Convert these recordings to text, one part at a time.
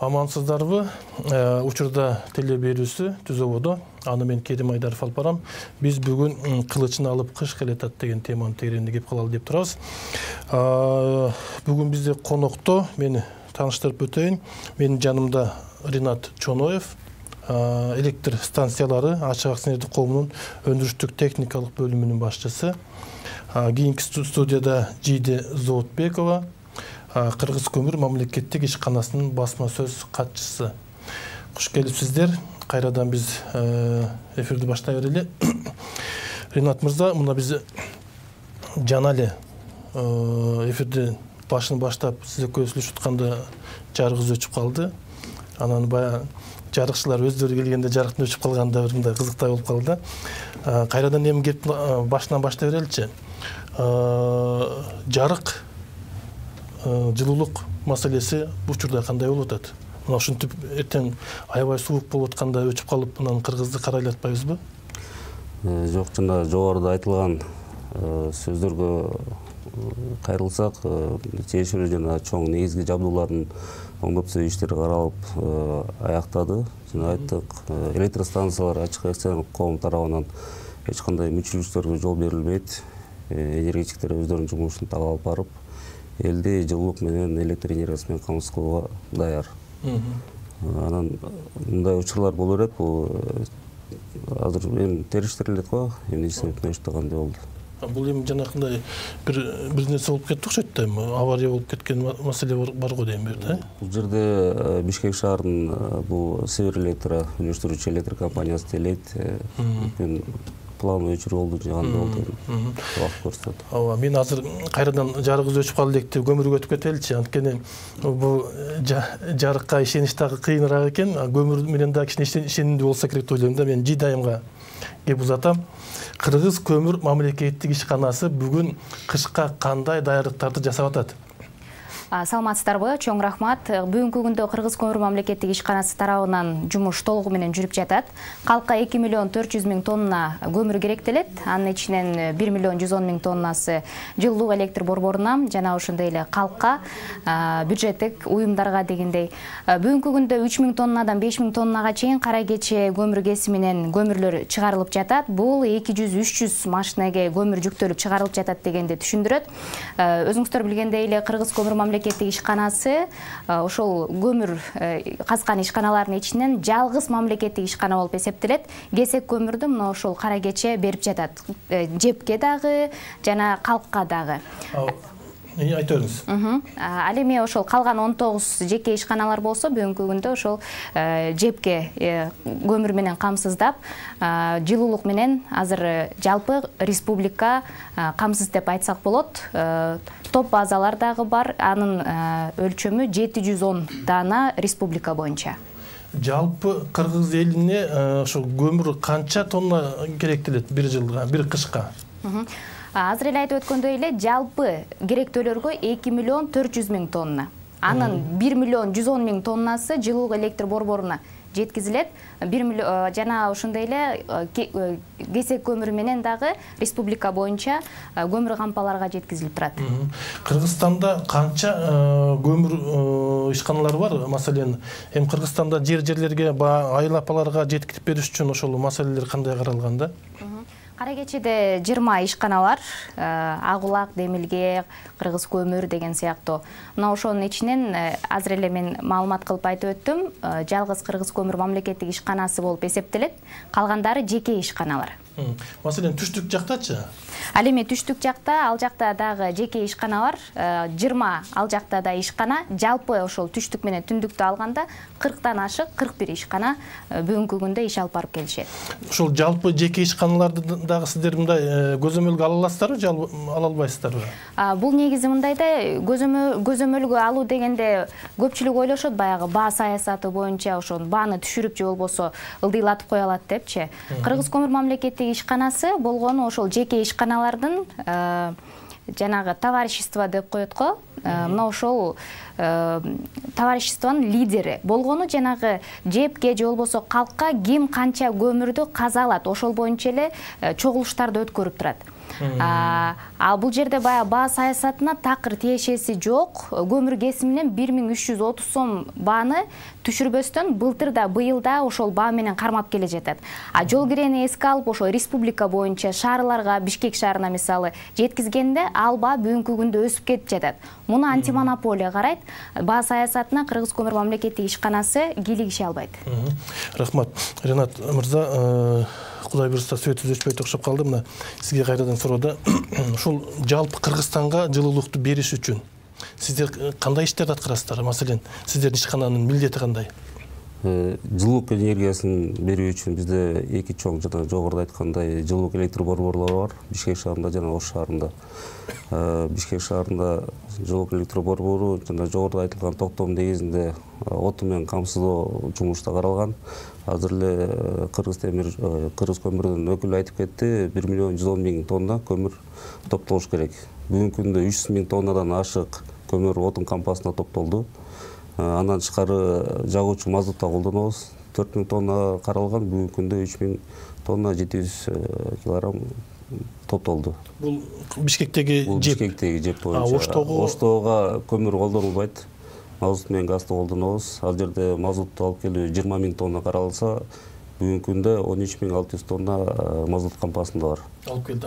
Амансыздарбы? Учурда теле берүүсү Түзөбодо. Аны мен Керим Айдаров алып барам. Биз бүгүн кылычын алып кыш келатат деген теманы тегеренде кеп калалы деп турабыз. Бүгүн бизде конокто мени тааныштырып өтөйүн. Менин жанымда Ринат Чоноев, электр станциялары Ачык акционердик коомунун өндүрүштүк техникалык бөлүмүнүн башчысы. Кийинки студияда Жиде Зоотбекова, Кыргыз көмүр мамлекеттик ишканасынын басма сөз катчысы. Куш келипсиздер. Кайрадан биз эфирди баштай берели. Ринат мырза, мына биз жана эле эфирди башын баштап сиз экөөбүз сүйлөшүп атканда жарыгыбыз өчүп калды. Анан баягы жарыкчылар өздөрү келгенде жарыктын өчүп калганда бир мындай кызыктай болуп калды. Кайрадан эми кеп башынан баштай береличи. Жарык жылуулук маселеси учурда кандай болуп атат? Мына ушинтип эртең аябай суук болуп атканда өчүп калып, мынан Кыргызды карайлатпайбызбы? Жок, жана жогоруда айтылган сөздөргө кайрылсак, тиешелүү жана чоң негизги жабдуулардын оңдоп түзөө иштери каралып аяктады. Жана айттык, электростанциялар ачык акционерлик коом тарабынан эч кандай мүчүлүктөргө жол берилбейт. Энергетиктер өздөрүнүн жумушун так алып барып, элди жылуулук менен электр энергиясы менен камсыз кылууга даяр. Анан мындай учурлар боло берет, бул азыр эми териштирилет го, эмнесин өтмөш кандай болду. Бул эми жанакындай бир нерсе болуп кетти окшойт да, эми авария болуп кеткен маселе бар го дейм берди. Бул жерде Бишкек шаарынын бул Север Электро үйлөштүрүүчү электр компаниясы делейт. Планы өчүрүү болду, жаганда болду. Убакыт көрсөтөт. Ооба, мен азыр кайрадан жарыгыбыз өчүп калды элек деп көмүргө өтүп кетеличи. Анткени бул жарыкка ишенич дагы кыйыныраак экен. Көмүр менен дагы кичине ишенимдүү болсо керек деп ойлойм да. Мен Жидайымга кеп узатам. Кыргыз көмүр мамлекеттик ишканасы бүгүн кышка кандай даярдыктарды жасап атат? Саламатсыздарбы, чоң рахмат. Бүгүнкү күндө Кыргыз көмүр мамлекеттик ишканасы тарабынан жумуш толугу менен жүрүп жатат. Калкка 2 миллион 400 миң тонна көмүр керектелет. Анын ичинен 1 миллион 110 миң тоннасы жылуулук электр борборуна жана ошондой эле калкка, бюджеттик уюмдарга дегендей. Бүгүнкү күндө 3 миң тоннадан 5 миң тоннага чейин кара кече көмүр кесиминен көмүрлөр чыгарылып жатат. Бул 200-300 машинеге көмүр жүктөлүп чыгарылып жатат дегенди түшүндүрөт. Өзүңүздөр билгендей эле Кыргыз көмүр мамлекеттик ишканасы ошол көмүр казган ишканалардын ичинен жалгыз мамлекеттик ишкана болуп эсептелет. Кесек көмүрдү мына ошол кара кече берип жатат. Жепке дагы жана калкка дагы. Айта бериңиз. Ал эми ошол калган 19 жеке ишканалар болсо бүгүнкү күндө ошол жепке көмүр менен камсыздап, жылуулук менен азыр жалпы республика камсыз деп айтсак болот. Топ базалар дагы бар. Анын өлчөмү 710 дана республика боюнча. Жалпы Кыргыз элине ошо көмүр канча тонна керектелет бир жылга, бир кышка? Азыр эле айтып өткөндөй эле жалпы керектөөлөргө 2 миллион 400 миң тонна. Анын 1 миллион 110 миң тоннасы жылуулук электр борборуна жеткизилет. 1 миллион жана ошондой эле кесек көмүрү менен дагы республика боюнча көмүр кампаларга жеткизилип турат. Кыргызстанда канча көмүр ишканалары бар? Маселен, эми Кыргызстанда жерлерге, айлапаларга жеткирип бериш үчүн ошол маселелер кандай каралган да? Кара кечеде 20 ишканалар, Агулак, Демилге, Кыргыз көмүр деген сыяктуу. Мына ошонун ичинен азыр эле мен маалымат кылып айтып өттүм, жалгыз Кыргыз көмүр мамлекеттик ишканасы болуп эсептелет. Калгандары жеке ишканалар. Маселен, түштүк жактачы? Ал эми түштүк жакта, ал жакта дагы жеке ишканалар, 20 ал жакта да ишкана, жалпы ошол түштүк менен түндүктү алганда 40тан ашык 41 ишкана бүгүнкү күндө иш алып барып келишет. Ошол жалпы жеке ишканаларды дагы сиздер мындай көзөмөлгө ала аласыздарбы, же ала албайсыздарбы? Бул негизи мындай да, көзөмөлгө алуу дегенде көпчүлүк ойлошот баягы баа саясаты боюнча ошол бааны түшүрүп же болбосо ылдыйлатып кое алат депчи. Кыргыз көмүр мамлекеттик ишканасы болгону ошол жеке ишканалардын жанагы товарищество деп коет го. Мына ошол товариществонун лидери болгону жанагы жепке же болбосо калкка ким канча көмүрдү каза алат, ошол боюнча эле чогулуштарды өткөрүп турат. Ал бул жерде баягы баа саясатына такыр тиешеси жок. Көмүр кесиминен 1330 сом бааны түшүрбөстөн быйыл да ошол баа менен кармап келе жатат. Жол кирени эске алып ошо республика боюнча шаарларга, Бишкек шаарына мисалы жеткизгенде ал баа бүгүнкү күндө өсүп кетип жатат. Муну антимонополия карайт. Баа саясатына Кыргыз көмүр мамлекеттик ишканасы кийлигише албайт. Рахмат. Ринат мырза, Кудай буйрса сөзүбүз өчпөй окшоп калды. Мына сизге кайрадан суроода. Ушул жалпы Кыргызстанга жылуулукту бериш үчүн сиздер кандай иштерди аткарасыздар? Маселен, сиздердин ишкананын милдети кандай? Жылуулук энергиясын берүү үчүн бизде эки чоң жана жогоруда айткандай жылуулук электр борборлору бар. Бишкек шаарында жана Ош шаарында. Бишкек шаарында жылуулук электр борбору жана жогоруда айтылган токтом негизинде оту менен камсыздоо жумушта каралган. Азыр эле Кыргыз көмүрдүн өкүлү айтып кетти, 1.110.000 тонна көмүр топтолуш керек. Бүгүнкү күндө 300.000 тоннадан ашык көмүр отун кампасына топтолду. Андан тышкары жагуучу мазутта колдонобуз. 4.000 тонна каралган, бүгүнкү күндө 3.000 тонна 700 килограмм топтолду. Бул Бишкектеги жеп. Бишкектеги жеп боюнча. Оштого көмүр колдонулбайт. Мазут менен газды колдонобуз. Ал жерде мазутту алып келүү 20.000 тонна каралса, бүгүнкү күндө 13.600 тонна мазут кампасында бар. Алып келди.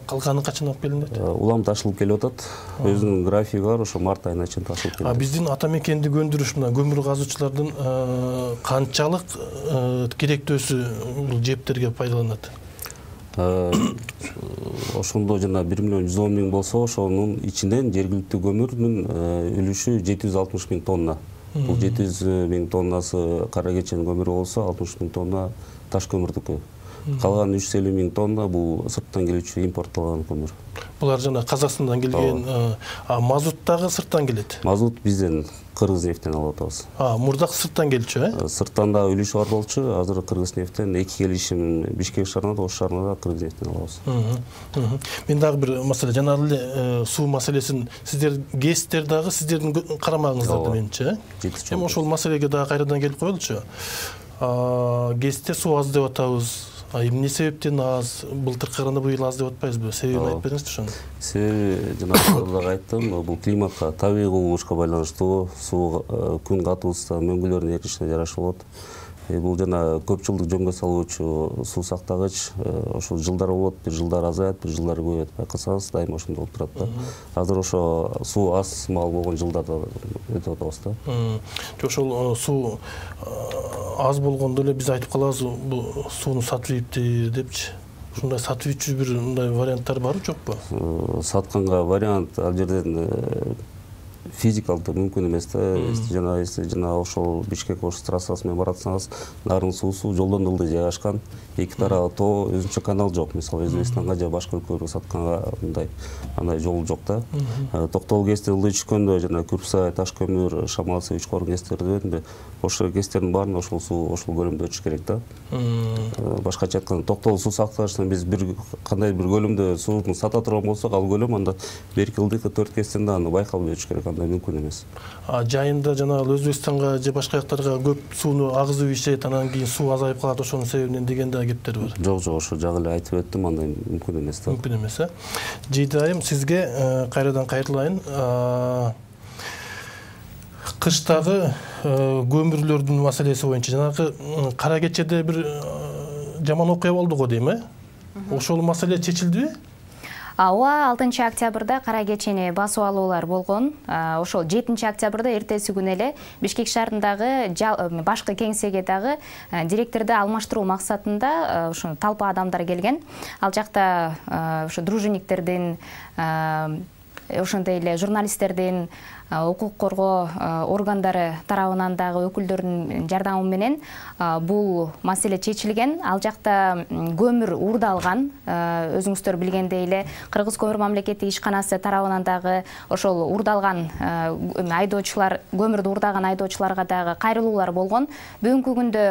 Калганы качан алып келинет? Улам ташылып келип атат. Өзүнүн графиги бар, ошо март айына чейин ташылып келет. Биздин ата мекендик өндүрүш мына көмүр казуучулардын канчалык керектөөсү бул жептерге пайдаланат? Ошондо жана 1.110.000 болсо, ошонун ичинен жергиликтүү көмүрдүн үлүшү 760.000 тонна. Бул 700.000 тоннасы кара кечен көмүрү болсо, 60.000 тонна таш көмүрдүкү. Калган 350.000 тонна бул сырттан келүүчү импортталган көмүр. Булар жана Казакстандан келген, мазут дагы сырттан келет. Мазут бизден Кыргыз нефтен алып атабыз. Мурдак сырттан келчү, Сырттан да үлүшү бар болчу. Азыр Кыргыз нефтен 2 келишим Бишкек шаарына да, Ош шаарына да Кыргыз нефтен алабыз. Мен дагы бир маселе, жана эле суу маселесин сиздер ГЭСтер дагы сиздердин карамагыңыздарда менчи. Эми ошол маселеге дагы кайрадан келип коелучу. ГЭСте суу аз деп атабыз. Эмне себептен аз? Былтыркы караганда быйыл аз деп атпайбызбы? Себебин айтып бериңизчи ошону. Себеби жана айттым, бул климатка, табигый кубулушка байланыштуу. Суу күн катуусуна, мөңгүлөрдүн эришине жараша болот. Бул жана көп жылдык жөнгө салуучу суу сактагыч, ошол жылдар болот, бир жылдар азаят, бир жылдар көбөйөт. Байкасаңыз, дайыма ошондой болуп турат да. Азыр ошо суу аз маал болгон жылдарда өтүп атабыз да. Ошол суу аз болгондо эле биз айтып калабыз, бул сууну сатып ийипти депчи. Ушундай сатып ийчү бир мындай варианттар барбы, жокпу? Сатканга вариант ал жерден физикалдуу мүмкүн эмес да. Жана ошол Бишкек Ош трассасы менен баратсаңыз, нарын суусу жолдон ылдый жайгашкан. Эки тарабы тоо, өзүнчө канал жок. Мисалы Өзбекстанга же башка өлкөлөргө сатканга мындай андай жол жок да. Токтол ГЭСте ылдый түшкөндө жана Күрсай, Таш көмүр, Шамалсы, Үч Корун ГЭСтерди дебедимби? Ошол ГЭСтердин баарын ошол суу ошол көлөмдө өтүш керек да. Башкача айтканда, токтол суу сактагычтан биз кандай бир көлөмдө сууну сата турган болсок, ал көлөм анда берки ылдыйкы 4 ГЭСтен да аны байкалбай өтүш керек. Андай мүмкүн эмес. Жайында жана Өзбекстанга же башка жактарга көп сууну агызып ийишет, анан кийин суу азайып калат ошонун себебинен деген да кептер бар. Жок, ошо жагы эле айтып өттүм, андай мүмкүн эмес да. Мүмкүн эмес, Жийди айым, сизге кайрадан кайрылайын. Кыштагы көмүрлөрдүн маселеси боюнча жанагы кара кечеде бир жаман окуя болду го дейм, Ошол маселе чечилдиби? Ооба, 6 октябрда кара кечени басып алуулар болгон. Ошол 7 октябрда эртеси күнү эле Бишкек шаарындагы башкы кеңсеге дагы директорду алмаштыруу максатында ошо талпа адамдар келген. Ал жакта ошо дружинниктердин, ошондой эле журналисттердин, укук коргоо органдары тарабынан дагы өкүлдөрдүн жардамы менен бул маселе чечилген. Ал жакта көмүр уурдалган. Өзүңүздөр билгендей эле Кыргыз көмүр мамлекеттик ишканасы тарабынан дагы ошол уурдалган айдоочулар, көмүрдү уурдаган айдоочуларга дагы кайрылуулар болгон. Бүгүнкү күндө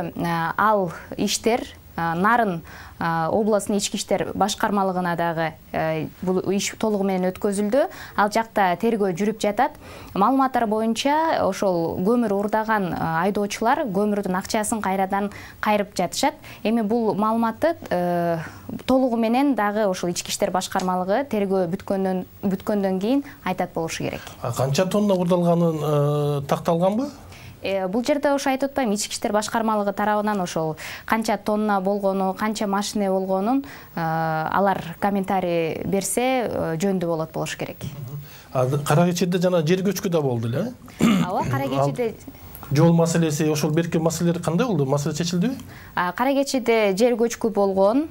ал иштер Нарын областын ички иштер башкармалыгына дагы бул иш толугу менен өткөзүлдү. Ал жакта тергөө жүрүп жатат. Маалыматтар боюнча ошол көмүр урдаган айдоочулар көмүрдүн акчасын кайрадан кайрып жатышат. Эми бул маалыматты толугу менен дагы ошол ички иштер башкармалыгы тергөө бүткөндөн кийин айтат болушу керек. Канча тонна урдалганын такталганбы? Бул жерде ошо айтып атпайм, ички иштер башкармалыгы тарабынан ошол канча тонна болгону, канча машина болгонун алар комментарий берсе жөндүү болушу керек. Кара Кечиде жана жер көчкү да болду эле. Ооба, Кара Кечиде жол маселеси, ошол берки маселелер кандай болду? Маселе чечилдиби? Кара Кечиде жер көчкү болгон,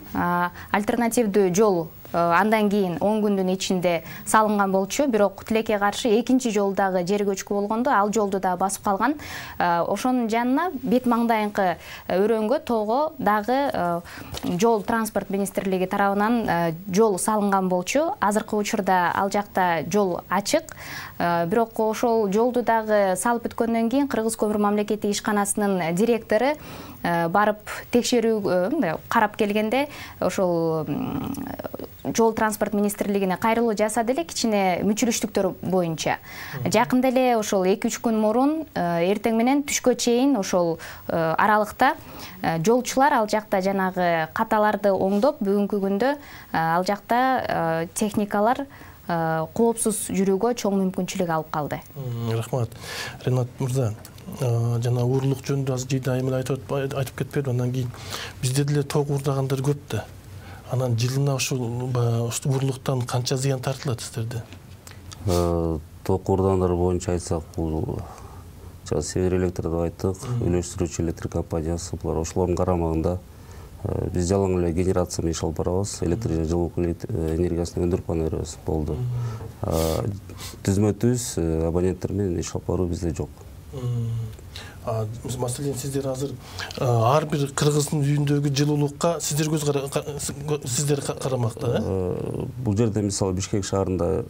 альтернативдүү жол андан кийин 10 күндүн ичинде салынган болчу, бирок тилекке каршы экинчи жолдагы жер көчкү болгондо ал жолду да басып калган. Ошонун жанына бет маңдайыңкы өрөнгө тоого дагы жол транспорт министрлиги тарабынан жол салынган болчу. Азыркы учурда ал жакта жол ачык. Бирок ошол жолду дагы салып бүткөндөн кийин Кыргыз көмүр мамлекеттик ишканасынын директору барып текшерүү карап келгенде ошол жол транспорт министрлигине кайрылуу жасады эле кичине мүчүлүштүктөр боюнча. Жакында эле ошол 2-3 күн мурун эртең менен түшкө чейин ошол аралыкта жолчулар ал жакта жанагы каталарды оңдоп, бүгүнкү күндө ал жакта техникалар коопсуз жүрүүгө чоң мүмкүнчүлүк алып калды. Рахмат. Ринат мырза, жана уурлук жөнүндө аз жыйдайым эле айтып кетпедим. Андан кийин бизде деле ток уурдагандар көп да. Анан жылына ушул уурлуктан канча зыян тартылат сиздерде? Ток уурдагандар боюнча айтсак, бул Север Электр деп айттык, үйлөштүрүүчү электр компаниясы, булар ошолордун карамагында. Биз жалаң эле генерация менен иш алып барабыз, электр жана жылуу энергиясын өндүрүп гана беребиз, болду. Түзмө-түз абоненттер менен иш алып баруу бизде жок. Маселен, сиздер азыр ар бир кыргыздын үйүндөгү жылуулукка сиздер карамакта, Бул жерде мисалы Бишкек шаарында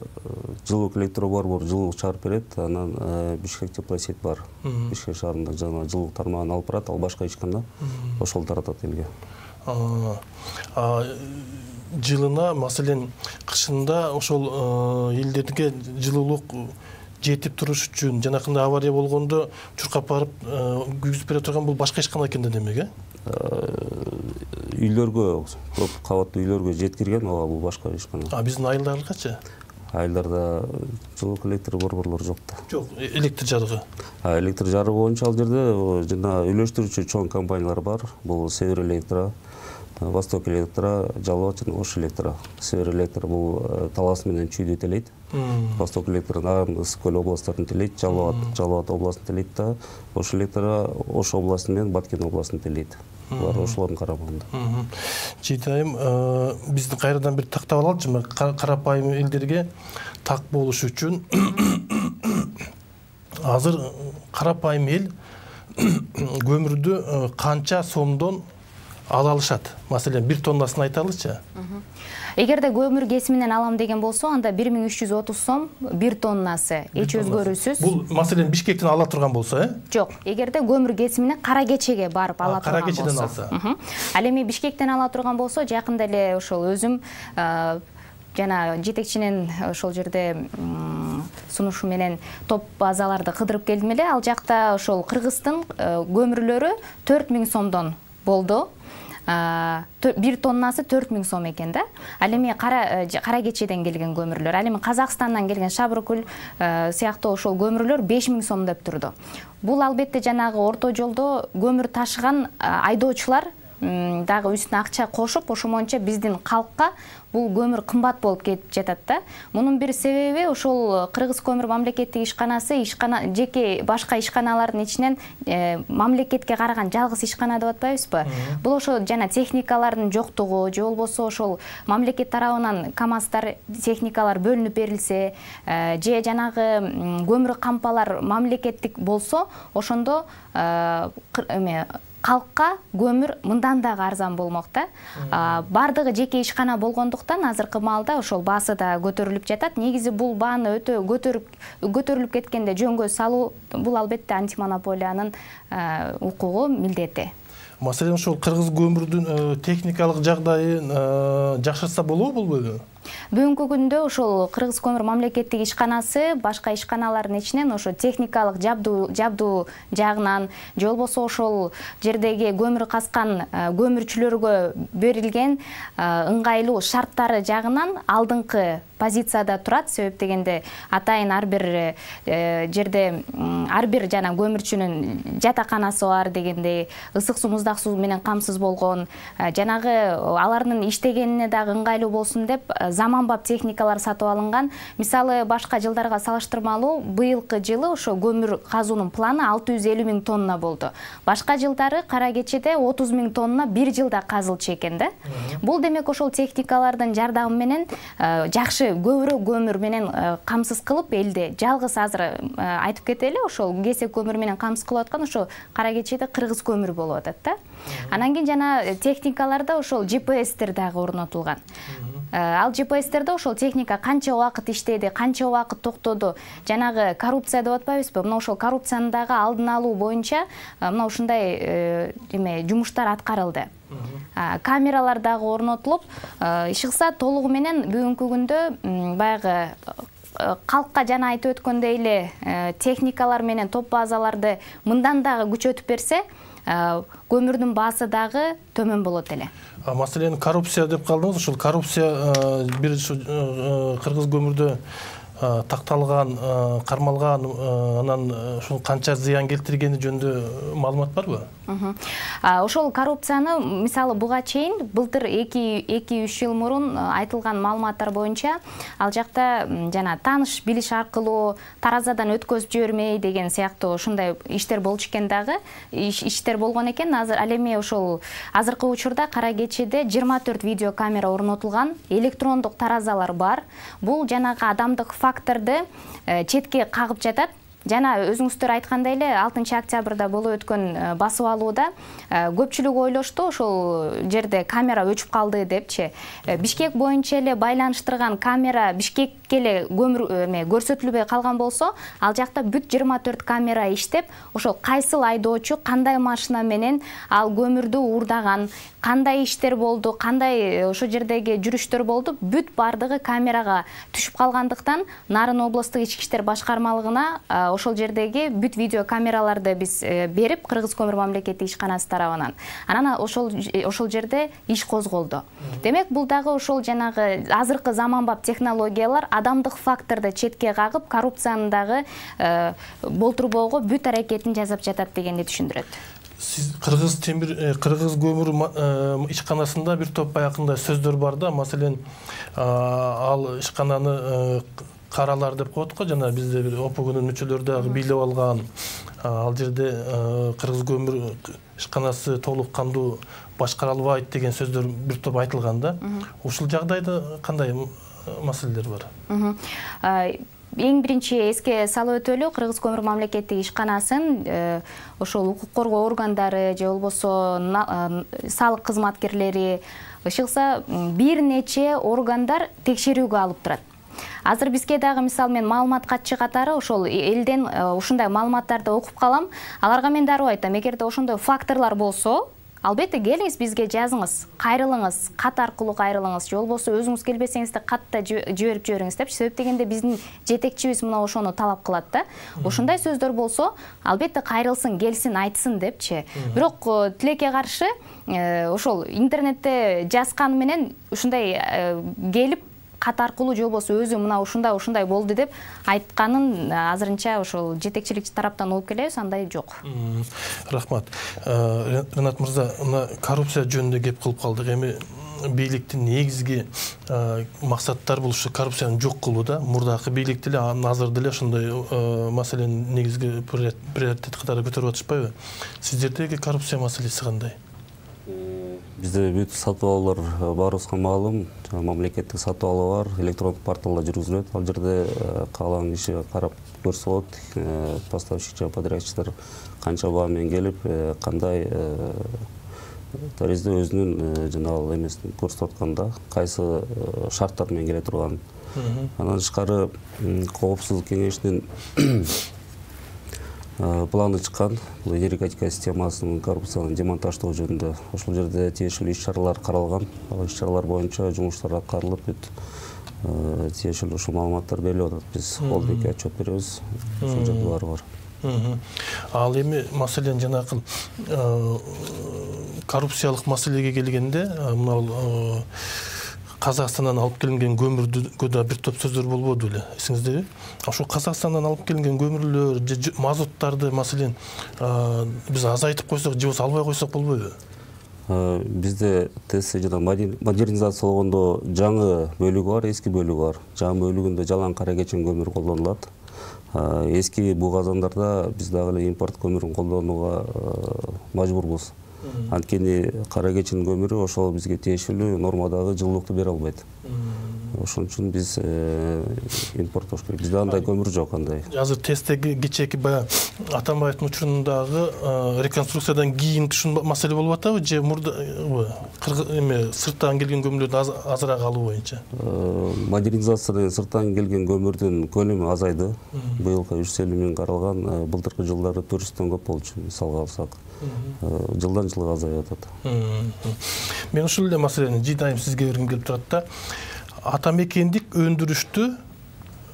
жылуулук электробор жылуулук чыгарып берет, анан Бишкек теплосеть бар. Бишкек шаарында жана жылуулук тармагын алып барат, ал башка ичканда ошол таратат элге. Жылына, маселен, кышында ошол элдерге жылуулук жетип туруш үчүн жанакындай авария болгондо чуркап барып күйгүзүп бере турган бул башка ишкана экен да демек, Үйлөргө, көп кабаттуу үйлөргө жеткирген, бул башка ишкана. Биздин айылдар кача? Айылдарда жылуулук электр борборлору жок да. Жок, электр жарыгы. Электр жарыгы боюнча ал жерде жана үйлөштүрүүчү чоң компаниялар бар. Бул Север Электр, Восток Электр, Жалоат жана Ош Электр. Север Электр бул Талас менен Чүйдү телейт. Восток Электр Ысык көл областтарын телейт, Жалоат областын телейт да, Ош Электр Ош областын менен Баткен областын телейт. Булар ошолордун карамагында. Жыйдайым, биздин кайрадан бир тактап алалычы, карапайым элдерге так болуш үчүн азыр карапайым эл көмүрдү канча сомдон ала алышат? Маселен, 1 тоннасын айталычы. Эгерде көмүр кесиминен алам деген болсо, анда 1330 сом 1 тоннасы, эч өзгөрүүсүз. Бул маселен Бишкектен ала турган болсо, Жок, эгерде көмүр кесиминен Кара Кечиге барып ала турган болсо. Кара Кечиден алса. Ал эми Бишкектен ала турган болсо, жакында эле ошол өзүм жана жетекчинин ошол жерде сунушу менен топ базаларды кыдырып келдим эле. Ал жакта ошол Кыргыздын көмүрлөрү 4000 сомдон болду. 1 тоннасы 4000 сом экен да. Ал эми Кара Кечиден келген көмүрлөр, ал эми Казакстандан келген Шабыркүл сыяктуу ошол көмүрлөр 5000 сом деп турду. Бул албетте жанагы орто жолдо көмүр ташыган айдоочулар дагы үстүнө акча кошуп, ошомонча биздин калкка бул көмүр кымбат болуп кетип жатат да. Мунун бир себеби ошол Кыргыз көмүр мамлекеттик ишканасы жеке башка ишканалардын ичинен мамлекетке караган жалгыз ишкана деп атпайбызбы? Бул ошо жана техникалардын жоктугу, же болбосо ошол мамлекет тарабынан КАМАЗдар, техникалар бөлүнүп берилсе, же жанагы көмүр кампалар мамлекеттик болсо, ошондо калкка көмүр мындан дагы арзан болмок да. Бардыгы жеке ишкана болгондуктан азыркы маалда ошол баасы да көтөрүлүп жатат. Негизи бул бааны өтө көтөрүлүп кеткенде жөнгө салуу бул албетте антимонополиянын укугу, милдети. Маселен, ошол кыргыз көмүрдүн техникалык жагдайын жакшыртса болобу, болбойбу? Бүгүнкү күндө ошол Кыргыз көмүр мамлекеттик ишканасы башка ишканалардын ичинен ошо техникалык жабдуу жагынан же болбосо ошол жердеги көмүр казкан көмүрчүлөргө берилген ыңгайлуу шарттары жагынан алдыңкы позицияда турат. Себеп дегенде атайын ар бир жерде ар бир жана көмүрчүнүн жатаканасы бар дегендей, ысык суу, муздак суу менен камсыз болгон, жанагы алардын иштегенине дагы ыңгайлуу болсун деп заманбап техникалар сатып алынган. Мисалы, башка жылдарга салыштырмалуу быйылкы жылы ошо көмүр казуунун планы 650 000 тонна болду. Башка жылдары кара кечеде 30 000 тонна бир жылда казылчу экен да. Бул демек ошол техникалардын жардамы менен жакшы көбүрөөк көмүр менен камсыз кылып, элде жалгыз азыр айтып кетели, ошол кесек көмүр менен камсыз кылып аткан ошо кара кечеде кыргыз көмүр болуп атат да. Анан кийин жана техникаларда ошол GPS-тер дагы орнотулган. Ал GPS-терде ошол техника канча убакыт иштеди, канча убакыт токтоду, жанагы коррупция деп атпайбызбы? Мына ошол коррупцияны дагы алдын алуу боюнча мына ушундай жумуштар аткарылды. Камералар дагы орнотулуп, иш кылса толугу менен бүгүнкү күндө баягы калкка жана айтып өткөндөй эле техникалар менен топ базаларды мындан дагы күчөтүп берсе, көмүрдүн баасы дагы төмөн болот эле. Маселен, коррупция деп калдыңыз. Ошол коррупция бир кыргыз көмүрдө такталган, кармалган, анан ушул канча зыян келтиргени жөнүндө маалымат барбы? Ошол коррупцияны мисалы буга чейин былтыр 2-3 жыл мурун айтылган маалыматтар боюнча ал жакта жана тааныш билиш аркылуу таразадан өткөзүп жибермей деген сыяктуу ушундай иштер болчу экен дагы. Иштер болгон экен. Азыр ал эми ошол азыркы учурда кара кечеде 24 видео камера орнотулган, электрондук таразалар бар. Бул жанагы адамдык факторду четке кагып жатат. Жана өзүңүздөр айткандай эле 6 октябрда болуп өткөн басып алууда көпчүлүк ойлошту ошол жерде камера өчүп калды депчи. Бишкек боюнча эле байланыштырган камера Бишкекке эле көрсөтүлбөй калган болсо, ал жакта бүт 24 камера иштеп, ошол кайсыл айдоочу кандай машина менен ал көмүрдү уурдаган, кандай иштер болду, кандай ошол жердеги жүрүштөр болду, бүт бардыгы камерага түшүп калгандыктан Нарын облустук ички иштер башкармалыгына ошол жердеги бүт видео камераларды биз берип, Кыргыз көмүр мамлекеттик ишканасы тарабынан. Анан ошол жерде иш козголду. Демек, бул дагы ошол жанагы азыркы заманбап технологиялар адамдык факторду четке кагып, коррупцияны дагы болтурбоого бүт аракетин жасап жатат дегенди түшүндүрөт. Сиз Кыргыз көмүр ишканасында бир топ баягындай сөздөр бар да. Маселен, ал ишкананы каралар деп коет го, жана бизде бир ОПГнын мүчөлөрү дагы бийлеп алган. Ал жерде Кыргыз көмүр ишканасы толук кандуу башкара албайт деген сөздөр бир топ айтылган да. Ушул жагдайда кандай маселелер бар? Эң биринчи эске салып өтөлү, Кыргыз көмүр мамлекеттик ишканасын ошол укук коргоо органдары же болбосо салык кызматкерлери, ышыкса бир нече органдар текшерүүгө алып турат. Азыр бизге дагы мисалы мен маалымат катчы катары ошол элден ушундай маалыматтарды окуп калам. Аларга мен дароо айтам, эгерде ошондой факторлор болсо, албетте келиңиз бизге жазыңыз, кайрылыңыз, кат аркылуу кайрылыңыз, же болбосо өзүңүз келбесеңиз да катта жиберип жибериңиз депчи. Себеп дегенде биздин жетекчибиз мына ошону талап кылат да. Ошондой сөздөр болсо, албетте кайрылсын, келсин, айтсын депчи. Бирок тилекке каршы ошол интернетте жазган менен ушундай келип кат аркылуу же болбосо өзү мына ушундай болду деп айтканын азырынча ошол жетекчилик тараптан угуп келебиз, андай жок. Рахмат. Ренат мырза, мына коррупция жөнүндө кеп кылып калдык. Эми бийликтин негизги максаттары бул ушу коррупцияны жок кылуу да. Мурдакы бийлик деле азыр деле ошондой маселени негизги приоритет катары көтөрүп атышпайбы? Сиздердеги коррупция маселеси кандай? Бизде бүт сатып алуулар баарыбызга маалым. Мамлекеттик сатып алуу бар, электрондук порталда жүргүзүлөт. Ал жерде каалаган киши карап көрсө болот. Поставщик, подрядчиктер канча баа менен келип, кандай таризде өзүнүн жанагы эмесин көрсөтүп атканда, кайсы шарттар менен келе турган. Андан тышкары Коопсуздук кеңешинин планы чыккан. Бул энергетика системасынын коррупциялык демонтаждоо жөнүндө ошол жерде тиешелүү иш-чаралар каралган. Ал иш-чаралар боюнча жумуштар аткарылып, тиешелүү ушул маалыматтар берилип атат. Биз холдингге отчет беребиз. Ошол жерде баары бар. Ал эми маселен жанагы коррупциялык маселеге келгенде, мына Казакстандан алып келинген көмүрдө да бир топ сөздөр болбоду эле, эсиңиздеби? Ошол Казакстандан алып келинген көмүрлөр, мазуттарды маселен биз азайтып койсок, же болбосо албай койсок болбойбу? Бизде ТЭС жана модернизациялогондо жаңы бөлүгү бар, эски бөлүгү бар. Жаңы бөлүгүндө жалаң кара кечен көмүр колдонулат. Эски буу казандарда биз дагы эле импорт көмүрүн колдонууга мажбурбуз. Анткени кара кечен көмүрү ошол бизге тиешелүү нормадагы жылуулукту бере албайт. Ошон үчүн биз импорттош керек. Бизде андай көмүр жок андай. Азыр ТЭСтеги кичээки баягы Атамбаевдин учурундагы реконструкциядан кийин ушул маселе болуп атабы, же мурда сырттан келген көмүрлөрдү азыраак алуу боюнча? Модернизациядан сырттан келген көмүрдүн көлөмү азайды. Быйылкы 350 миң каралган, былтыркы жылдары 400дөн көп болчу, мисалга алсак. Жылдан жылга азайып атат. Мен ушул эле маселени жыйдайым сизге бергим келип турат да. Атамекендик өндүрүштү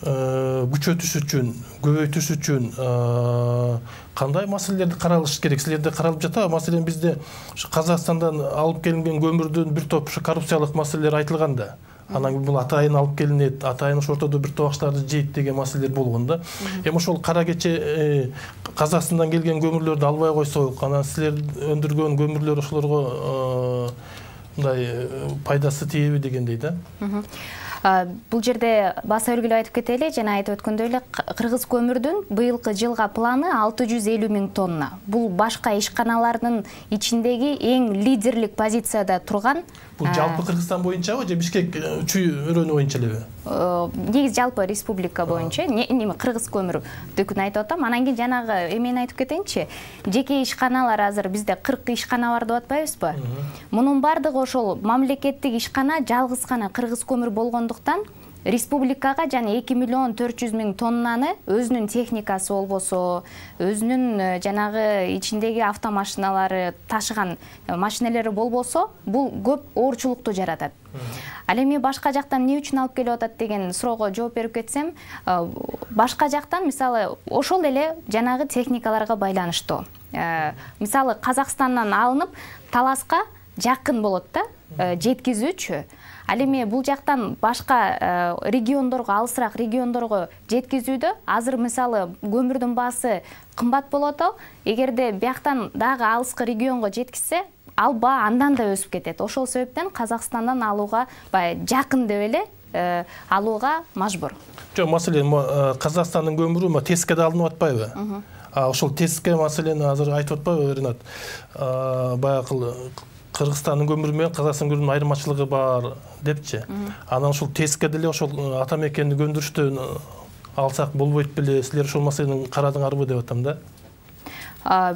күчөтүш үчүн, көбөйтүш үчүн кандай маселелерди каралыш керек? Силерде каралып жатабы? Маселен бизде Казакстандан алып келинген көмүрдүн бир топ коррупциялык маселелер айтылган да. Анан бул атайын алып келинет, атайын ошол ортодо бир табактарды жейт деген маселелер болгон да. Эми ошол кара кече Казакстандан келген көмүрлөрдү албай койсок, анан силер өндүргөн көмүрлөр ошолорго мындай пайдасы тийеби дегендей да. Бул жерде баса үлгүлөп айтып кетели, жана айтып өткөндөй эле кыргыз көмүрдүн быйылкы жылга планы 650 миң тонна. Бул башка ишканалардын ичиндеги эң лидерлик позицияда турган. Бул жалпы Кыргызстан боюнчабы же Бишкек чүй-өрөнү боюнча элеби? Негизи жалпы республика боюнча, кыргыз көмүрдүкүн айтып атам. Анан кийин жанагы эмени айтып кетейинчи. Жеке ишканалар азыр бизде 40 ишкана бар деп атпайбызбы? Мунун бардыгы ошол мамлекеттик ишкана жалгыз гана кыргыз көмүр болгондуктан республикага жана 2 миллион 400 миң тоннаны өзүнүн техникасы болбосо, өзүнүн жанагы ичиндеги автомашиналары ташыган машинелери болбосо, бул көп оорчулукту жаратат. Ал эми башка жактан эмне үчүн алып келип атат деген суроого жооп берип кетсем, башка жактан мисалы ошол эле жанагы техникаларга байланыштуу. Мисалы Казакстандан алынып Таласка жакын болот да, жеткизүүчү. Ал эми бул жактан башка региондорго, алысыраак региондорго жеткизүүдө азыр мисалы көмүрдүн баасы кымбат болот. Эгерде бияктан дагы алыскы регионго жеткизсе, ал баа андан да өсүп кетет. Ошол себептен Казакстандан алууга баягы жакын деп эле алууга мажбур. Жок, маселен Казакстандын көмүрү ТЭСке да алынып атпайбы? Ошол ТЭСке маселени азыр айтып атпайбы, Ринат? Баягы Кыргызстандын көмүрү менен Казакстандын көмүрүнүн айырмачылыгы бар депчи. Анан ошол ТЭСке деле ошол атамекендик өндүрүштөн алсак болбойт беле? Силер ошол маселени карадыңарбы деп атам да.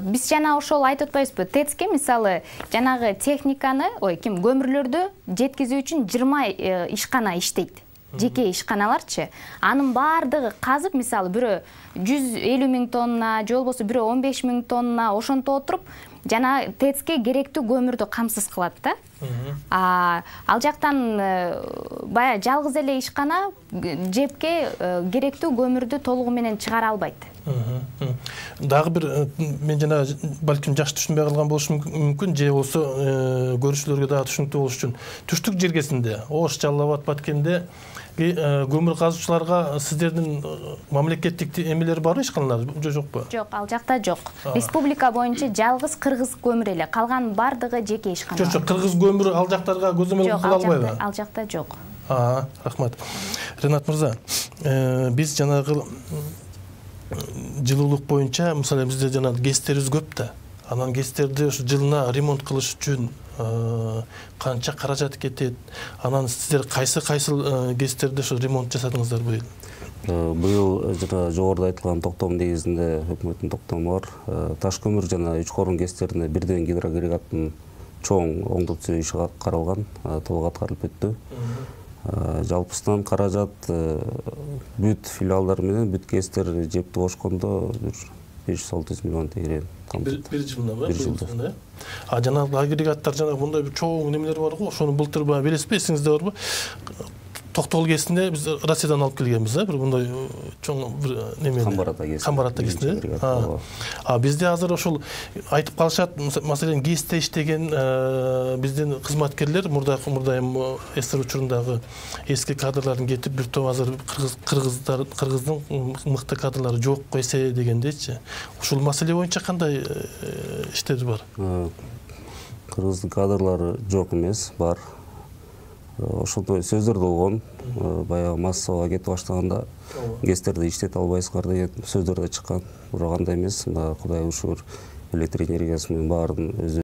Биз жана ошол айтып атпайбызбы? ТЭЦке мисалы жанагы техниканы, көмүрлөрдү жеткизүү үчүн 20 ишкана иштейт. Жеке ишканаларчы. Анын баардыгы казып, мисалы бирөө 150 миң тонна, же болбосо бирөө 15 миң тонна ошонто отуруп, жана ТЭЦке керектүү көмүрдү камсыз кылат да. Ал жактан баягы жалгыз эле ишкана жепке керектүү көмүрдү толугу менен чыгара албайт. Дагы бир мен жана балким жакшы түшүнбөй калган болушум мүмкүн, же болсо көрүүчүлөргө дагы түшүнүктүү болуш үчүн. Түштүк жергесинде, Ош, Жалал Абад, Баткенде көмүр казуучуларга сиздердин мамлекеттик эмелер барбы, ишканалар же жокпу? Жок, ал жакта жок. Республика боюнча жалгыз кыргыз көмүр эле, калган бардыгы жеке ишканалар. Жок, кыргыз көмүрү ал жактарга көзөмөл кыла албайбы? Ал жакта жок. Рахмат. Ринат мырза, биз жанагы жылуулук боюнча, мисалы бизде жана ГЭСтерибиз көп да. Анан ГЭСтерди ошо жылына ремонт кылыш үчүн канча каражат кетет? Анан сиздер кайсы ГЭСтерди ошо ремонт жасадыңыздар быйыл? Быйыл жана жогоруда айтылган токтом негизинде өкмөттүн токтому бар. Таш көмүр жана Үчкорун ГЭСтерине бирден гидроагрегаттын чоң оңдоп түзүү иши каралган, толук аткарылып өттү. Жалпысынан каражат бүт филиалдар менен бүт ГЭСтер жепти кошкондо 500-600 миллион тегерен камтыт. Бир жылда Бир жылда. Жанагы агрегаттар жанагы мындай бир чоң немелер бар го. Ошону былтыр билесизби, эсиңизде барбы? Токтогул кесинде биз Россиядан алып келгенбиз, бир мындай чоң бир немени. Камбарата кесинде. Бизде азыр ошол айтып калышат, маселен ГЭСте иштеген биздин кызматкерлер мурда СССР учурундагы эски кадрлардын кетип, бир топ азыр кыргыздын мыкты кадрлары жок эсе дегендейчи. Ушул маселе боюнча кандай иштер бар? Кыргыздын кадрлары жок эмес, бар. Ошондой сөздөр болгон, баягы массага кетип баштаганда ГЭСтерди иштете албайсыңар деген сөздөр да чыккан. Бирок андай эмес, Кудайга шүгүр, электр энергиясы менен баарын өзү